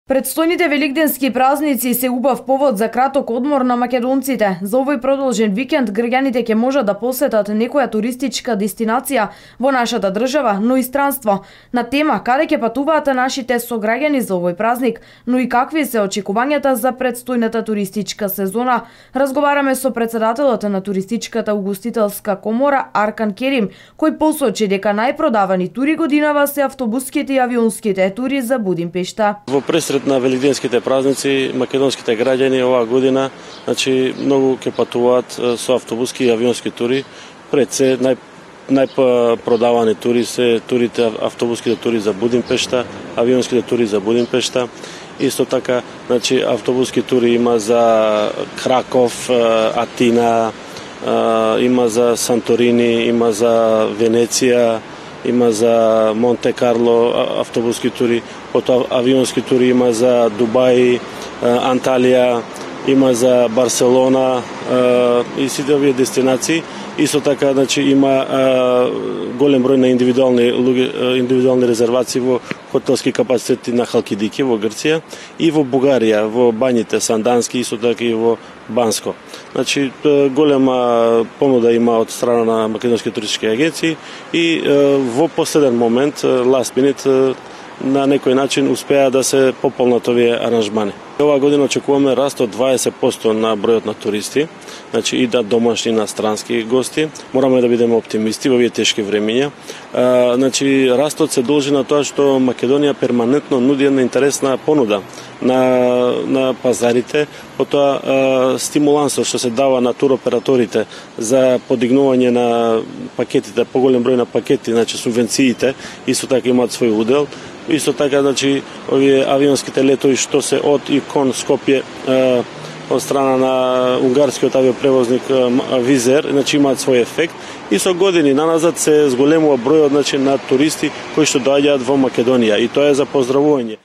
Предстојните великденски празници се убав повод за краток одмор на македонците. За овој продолжен викенд граѓаните ќе можат да посетат некоја туристичка дестинација во нашата држава, но и странство. На тема каде ќе патуваат нашите сограѓани за овој празник, но и какви се очекувањата за предстојната туристичка сезона, разговараме со председателот на туристичката угостителска комора Аркан Керим, кој посочи дека најпродавани тури годинава се автобуските и авионските тури за Будимпешта. На великденските празници македонските граѓани оваа година, многу ќе патуваат со автобуски и авионски тури. Пред се најпродавани тури се автобуските тури за Будимпешта, авионските тури за Будимпешта. Исто така, автобуски тури има за Краков, Атина, има за Санторини, има за Венеција, има за Монте Карло автобуски тури, потоа авионски тури има за Дубај, Анталија, има за Барселона и сите овие дестинации. Исто така, има голем број на индивидуални резервации во хотелски капацитети на Халкидики во Грција и во Бугарија, во Бањите, Сандански, исто така и во Банско. Голема понуда има од страна на македонски туристички агенции и во последен момент, last minute, на некој начин успеа да се пополнат овие аранжмани. Оваа година очекуваме раст од 20% на бројот на туристи, и да домашни и инострански гости. Мораме да бидеме оптимисти во овие тешки времиња. Растот се должи на тоа што Македонија перманентно нуди една интересна понуда на пазарите, потоа стимулансот што се дава на туроператорите за подигнување на пакетите, поголем број на пакети, субвенциите, исто така имаат свој удел. Исто така, овие авионските летови што се од и кон Скопје од страна на унгарскиот авиопревозник Визер, имаат свој ефект и со години наназад се зголемува бројот на туристи кои што доаѓаат во Македонија и тоа е за поздравување.